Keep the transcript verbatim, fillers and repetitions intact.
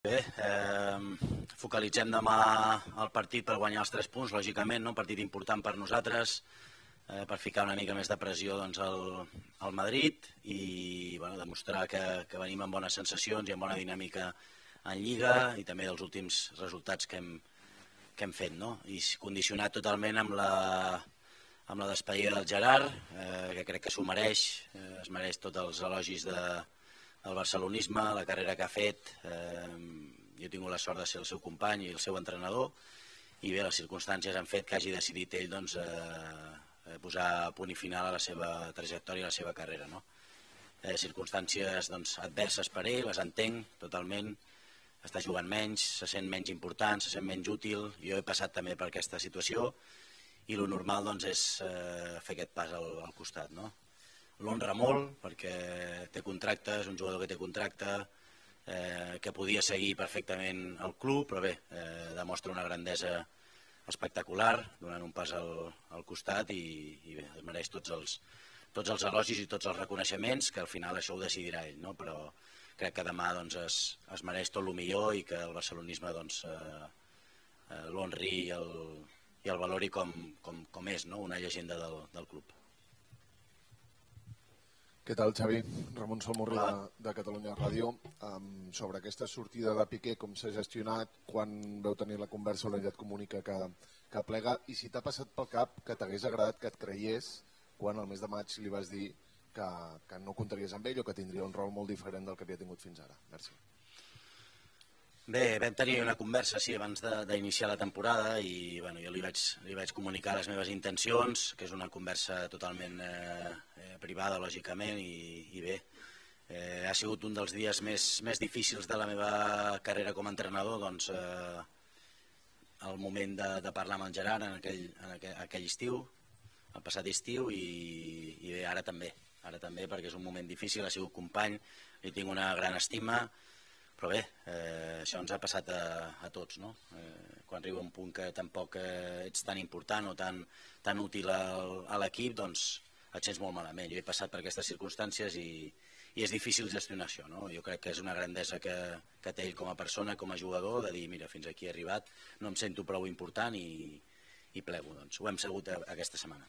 Bé, eh, focalitzem demà el partit per guanyar els tres punts, lògicament, no? Un partit important per nosaltres, eh, per ficar una mica més de pressió doncs, al, al Madrid i bueno, demostrar que, que venim amb bones sensacions i amb bona dinàmica en Lliga i també dels últims resultats que hem, que hem fet, no? I condicionat totalment amb la, amb la despedida del Gerard, eh, que crec que s'ho mereix, eh, es mereix tots els elogis de el barcelonisme, la carrera que ha fet, eh, jo he tingut la sort de ser el seu company i el seu entrenador i bé, les circumstàncies han fet que hagi decidit ell doncs, eh, posar punt i final a la seva trajectòria i a la seva carrera. No? Eh, circumstàncies doncs, adverses per ell, les entenc totalment, està jugant menys, se sent menys important, se sent menys útil, jo he passat també per aquesta situació i el normal doncs, és eh, fer aquest pas al, al costat. No? L'honra molt perquè té contracte, és un jugador que té contracte, eh, que podia seguir perfectament al club, però bé, eh, demostra una grandesa espectacular, donant un pas al, al costat i, i bé, es mereix tots els, tots els elogis i tots els reconeixements, que al final això ho decidirà ell, no? Però crec que demà doncs, es, es mereix tot el millor i que el barcelonisme doncs, eh, eh, l'honri i, el, i el valori com, com, com és, no? Una llegenda del, del club. Què tal, Xavi? Ramon Salmorri de, de Catalunya Ràdio. Um, sobre aquesta sortida de Piqué, com s'ha gestionat, quan veu tenir la conversa o l'ella et comunica que, que plega, i si t'ha passat pel cap que t'hagués agradat que et creiés quan al mes de maig li vas dir que, que no comptaries amb ell o que tindria un rol molt diferent del que havia tingut fins ara. Merci. Bé, vam tenir una conversa sí, abans d'iniciar la temporada i bueno, jo li vaig, li vaig comunicar les meves intencions, que és una conversa totalment eh, eh, privada, lògicament, i, i bé, eh, ha sigut un dels dies més, més difícils de la meva carrera com a entrenador, doncs eh, el moment de, de parlar amb en Gerard en aquell, en aquell, aquell estiu, el passat estiu, i, i bé, ara també, ara també, perquè és un moment difícil, ha sigut company, li tinc una gran estima, però bé, eh, això ens ha passat a, a tots, no? Eh, quan arriba un punt que tampoc eh, ets tan important o tan, tan útil al, a l'equip, doncs et sents molt malament. Jo he passat per aquestes circumstàncies i, i és difícil gestionar això, no? Jo crec que és una grandesa que, que té ell com a persona, com a jugador, de dir, mira, fins aquí he arribat, no em sento prou important i, i plego. Doncs ho hem sabut aquesta setmana.